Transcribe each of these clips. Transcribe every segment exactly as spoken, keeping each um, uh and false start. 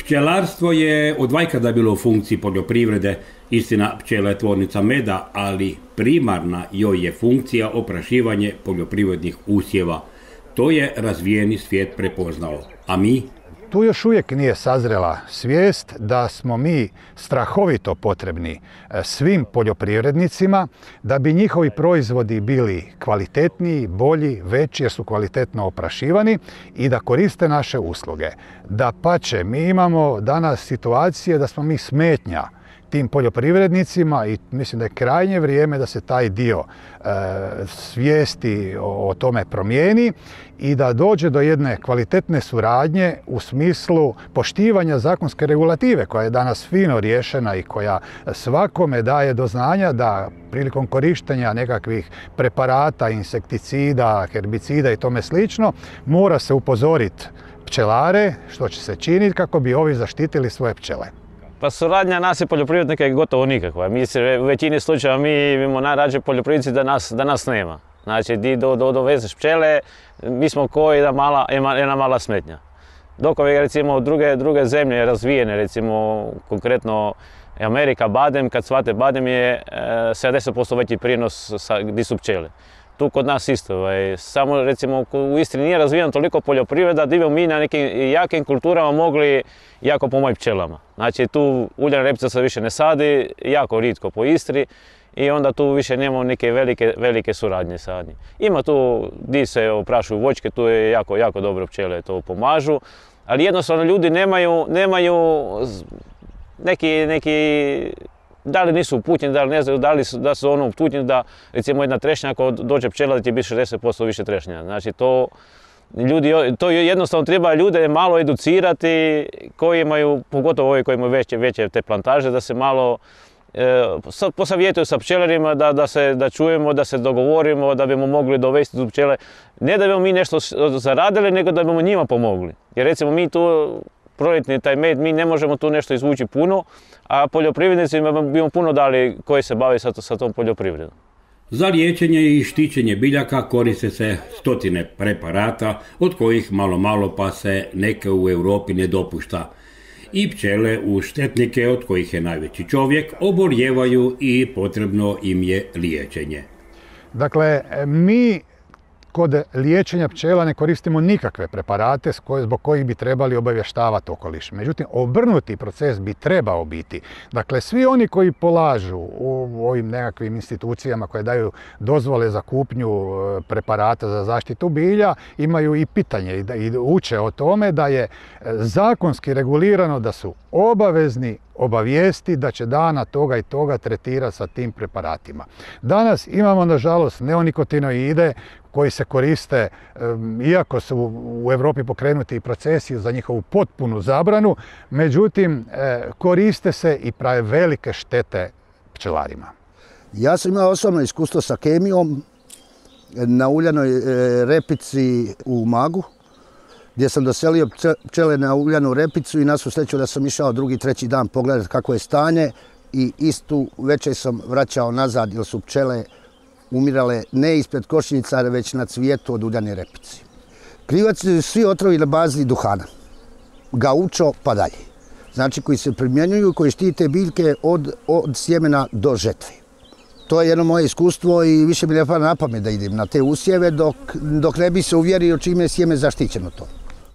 Pčelarstvo je od vajkada bilo u funkciji poljoprivrede, istina pčela je tvornica meda, ali primarna joj je funkcija oprašivanje poljoprivrednih usjeva. To je razvijeni svijet prepoznao, a mi? Tu još uvijek nije sazrela svijest da smo mi strahovito potrebni svim poljoprivrednicima da bi njihovi proizvodi bili kvalitetniji, bolji, veći jer su kvalitetno oprašivani i da koriste naše usluge. Dapače, mi imamo danas situacije da smo mi smetnja tim poljoprivrednicima i mislim da je krajnje vrijeme da se taj dio e, svijesti o, o tome promijeni i da dođe do jedne kvalitetne suradnje u smislu poštivanja zakonske regulative koja je danas fino riješena i koja svakome daje do znanja da prilikom korištenja nekakvih preparata, insekticida, herbicida i tome slično mora se upozoriti pčelare što će se činiti kako bi ovi zaštitili svoje pčele. Pa suradnja nas i poljoprivrednika je gotovo nikakva. Mi se u većini slučajeva mi imamo najrađe poljoprivrednici da nas, da nas nema. Znači, di do, do, dovezeš pčele, mi smo ko jedna mala, jedna mala smetnja. Dok ove, recimo, druge, druge zemlje razvijene, recimo, konkretno Amerika, badem, kad shvate badem je sedamdeset posto veći prijenos sa, gdje su pčele. Tu kod nas isto. Ovaj. Samo, recimo, u Istri nije razvijeno toliko poljoprivreda da bi mi na nekim jakim kulturama mogli jako pomoći pčelama. Znači, tu uljana repica se više ne sadi, jako ritko po Istri i onda tu više nemamo neke velike, velike suradnje sa njim. Ima tu gdje se oprašuju voćke, tu je jako, jako dobro pčele to pomažu, ali jednostavno ljudi nemaju, nemaju neki, neki da li nisu uputljeni, da li ne znaju, da li su, da su ono uputljeni da recimo jedna trešnja ako dođe pčela da će biti šezdeset posto više trešnja. Znači to, ljudi, to jednostavno treba ljude malo educirati koji imaju, pogotovo ovi koji imaju veće, veće te plantaže, da se malo e, posavjetuju sa pčelarima, da, da, se, da čujemo, da se dogovorimo, da bimo mogli dovesti tu pčele. Ne da bimo mi nešto zaradili, nego da bimo njima pomogli. Jer recimo mi tu proljetni taj med, mi ne možemo tu nešto izvući puno, a poljoprivrednicima bi puno dali koji se bave sa, sa tom poljoprivredom. Za liječenje i štićenje biljaka koriste se stotine preparata, od kojih malo malo pa se neke u Europi ne dopušta. I pčele uz štetnike, od kojih je najveći čovjek, oboljevaju i potrebno im je liječenje. Dakle, mi kod liječenja pčela ne koristimo nikakve preparate zbog kojih bi trebali obavještavati okoliš. Međutim, obrnuti proces bi trebao biti. Dakle, svi oni koji polažu u ovim nekakvim institucijama koje daju dozvole za kupnju preparata za zaštitu bilja, imaju i pitanje i uče o tome da je zakonski regulirano da su obavezni obavijesti da će dana toga i toga tretirati sa tim preparatima. Danas imamo, nažalost, neonikotinoide koji se koriste, iako su u Europi pokrenuti procesi za njihovu potpunu zabranu, međutim, koriste se i prave velike štete pčelarima. Ja sam imao osobno iskustvo sa kemijom na uljanoj repici u Umagu, gdje sam doselio pčele na uljanu repicu i na svu sreću da sam išao drugi, treći dan pogledati kako je stanje i istu večer sam vraćao nazad jer su pčele umirale ne ispred košnica, već na cvijetu od uljane repice. Krivac su svi otrovi na bazi duhana, gaučo pa dalje. Znači koji se primjenjuju i koji štite biljke od, od sjemena do žetve. To je jedno moje iskustvo i više mi ne pada na pamet da idem na te usjeve dok, dok ne bi se uvjerio čime je sjeme zaštićeno to.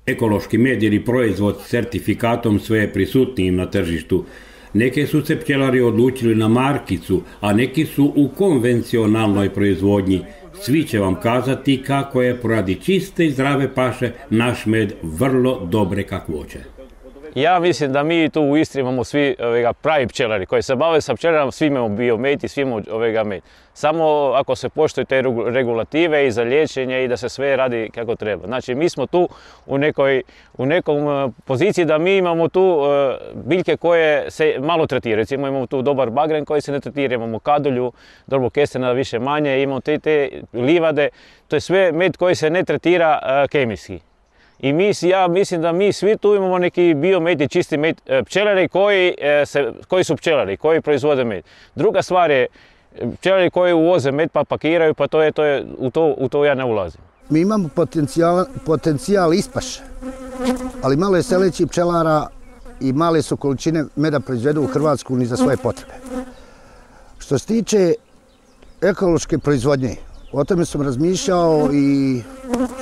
Ekološki med ili proizvod s certifikatom sve je prisutnijim na tržištu. Neke su se pčelari odlučili na markicu, a neki su u konvencionalnoj proizvodnji. Svi će vam kazati kako je poradi čiste i zdrave paše naš med vrlo dobre kakvoće. Ja mislim da mi tu u Istri imamo svi ovega, pravi pčelari koji se bave sa pčelarama, svi imamo bio med i svi imamo ovega med. Samo ako se poštuju te regulative i za liječenje i da se sve radi kako treba. Znači mi smo tu u nekoj u nekom poziciji da mi imamo tu uh, biljke koje se malo tretiraju. Recimo imamo tu dobar bagren koji se ne tretira, imamo kadulju, dobro kestena više manje, imamo te, te livade. To je sve med koji se ne tretira uh, kemijski. I mi, ja mislim da mi svi tu imamo neki biomed i čisti med, pčelari koji, se, koji su pčelari, koji proizvode med. Druga stvar je pčelari koji uvoze med pa pakiraju, pa to je, to je, u, to, u to ja ne ulazim. Mi imamo potencijal, potencijal ispaše, ali malo je seleći pčelara i male su količine meda proizvedu u Hrvatsku ni za svoje potrebe. Što se tiče ekološke proizvodnje, o tome sam razmišljao i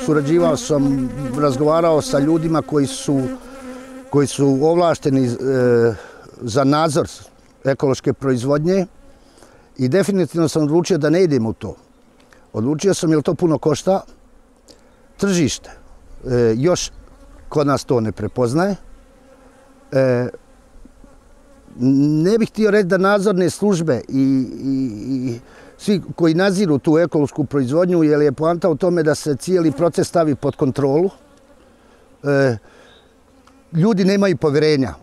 surađivao sam, razgovarao sa ljudima koji su, koji su ovlašteni e, za nadzor ekološke proizvodnje i definitivno sam odlučio da ne idem u to. Odlučio sam jer to puno košta, tržište e, još kod nas to ne prepoznaje. E, ne bih htio reći da nadzorne službe i, i, i svi koji nadziru tu ekološku proizvodnju, jer je poanta u tome da se cijeli proces stavi pod kontrolu. E, ljudi nemaju povjerenja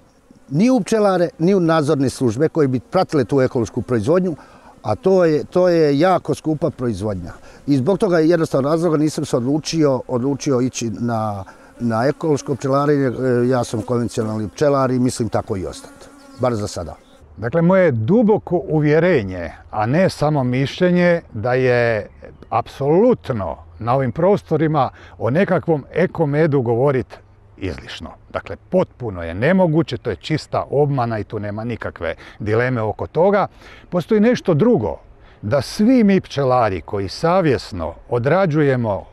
ni u pčelare, ni u nadzorne službe koji bi pratile tu ekološku proizvodnju, a to je, to je jako skupa proizvodnja. I zbog toga jednostavno razloga nisam se odlučio, odlučio ići na, na ekološko pčelarenje. Ja sam konvencionalni pčelar i mislim tako i ostati, bar za sada. Dakle, moje duboko uvjerenje, a ne samo mišljenje, da je apsolutno na ovim prostorima o nekakvom ekomedu govoriti izlišno. Dakle, potpuno je nemoguće, to je čista obmana i tu nema nikakve dileme oko toga. Postoji nešto drugo, da svi mi pčelari koji savjesno odrađujemo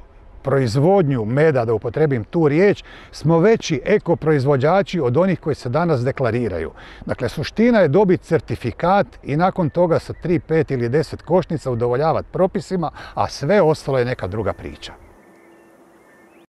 proizvodnju meda, da upotrebim tu riječ, smo veći ekoproizvođači od onih koji se danas deklariraju. Dakle, suština je dobiti certifikat i nakon toga sa tri, pet ili deset košnica udovoljavati propisima, a sve ostalo je neka druga priča.